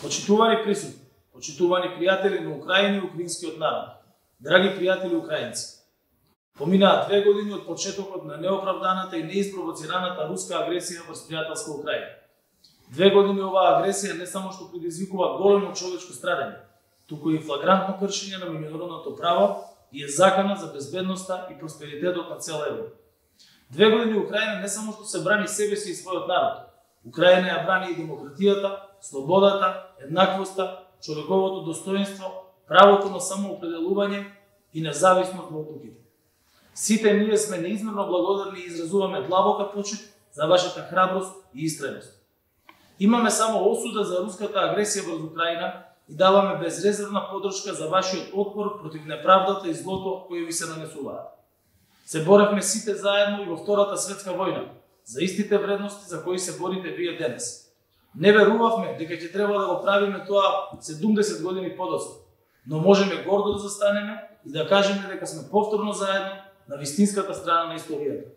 Почитувани присутни, почитувани пријатели на Украина и украинскиот народ, драги пријатели украинци, поминаа 2 години од почетокот на неоправданата и неиспровоцираната руска агресија врз пријателска Украина. 2 години оваа агресија не само што предизвикува големо човечко страдање, туку и флагрантно кршење на меѓународното право и е закана за безбедноста и просперитетот на цела Европа. 2 години Украина не само што се брани себе си и својот народ, Украина ја брани и демократијата, слободата, еднаквоста, човековото достоинство, правото на самоопределување и независност во одлуките. Сите ние сме неизмерно благодарни и изразуваме длабока почит за вашата храброст и истреност. Имаме само осуда за руската агресија врз Украина и даваме безрезервна поддршка за вашиот отпор против неправдата и злото кои ви се нанесуваат. Се боревме сите заедно и во Втората светска војна за истите вредности за кои се борите вие денес. Не верувавме дека ќе треба да го правиме тоа 70 години подоцна, но можеме гордо да застанеме и да кажеме дека сме повторно заедно на вистинската страна на историјата.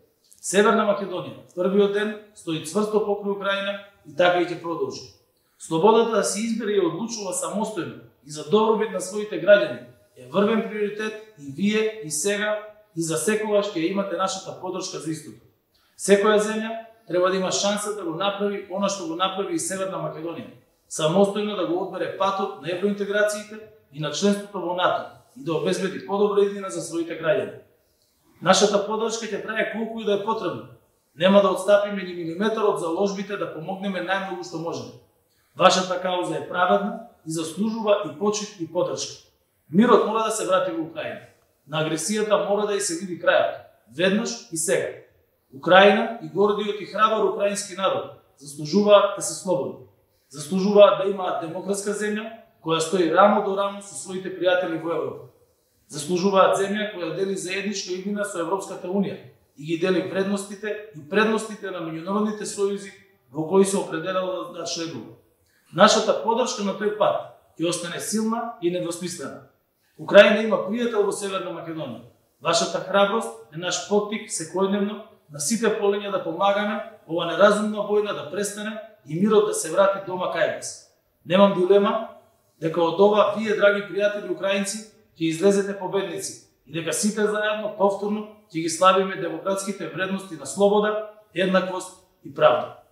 Северна Македонија, првиот ден, стои цврсто покрај Украина и така и ќе продолжи. Слободата да се избере и одлучува самостојно и за добробит на своите граѓани е врвен приоритет и вие и сега и за секогаш ќе имате нашата поддршка за истото. Секоја земја треба да има шанса да го направи она што го направи и Северна Македонија, самостојно да го одбере патот на евроинтеграциите и на членството во НАТО и да обезбеди подобра иднина за своите граѓани. Нашата поддршка ќе трае колку и да е потребно. Нема да отстапиме ни милиметар од заложбите да помогнеме најмногу што можеме. Вашата кауза е праведна и заслужува и почит и поддршка. Мирот мора да се врати во Украина. На агресијата мора да ја се види крајот, веднаш и сега. Украина и гордиот и храбар украински народ заслужуваат да се слободни. Заслужуваат да имаат демократска земја која стои рамо до рамо со своите пријатели во Европа. Заслужуваат земја која дели заедничка иднина со Европската унија и ги дели вредностите и предностите на меѓународните сојузи во кои се определила да членува. Нашата поддршка на тој пат ќе остане силна и недвосмислена. Украина има пријател во Северна Македонија. Вашата храброст е наш поттик секојдневно на сите полиња да помагаме ова неразумна војна да престане и мирот да се врати дома кај вас. Немам дилема дека од ова вие, драги пријатели украинци, ќе излезете победници и дека сите заедно повторно ќе ги славиме демократските вредности на слобода, еднаквост и правда.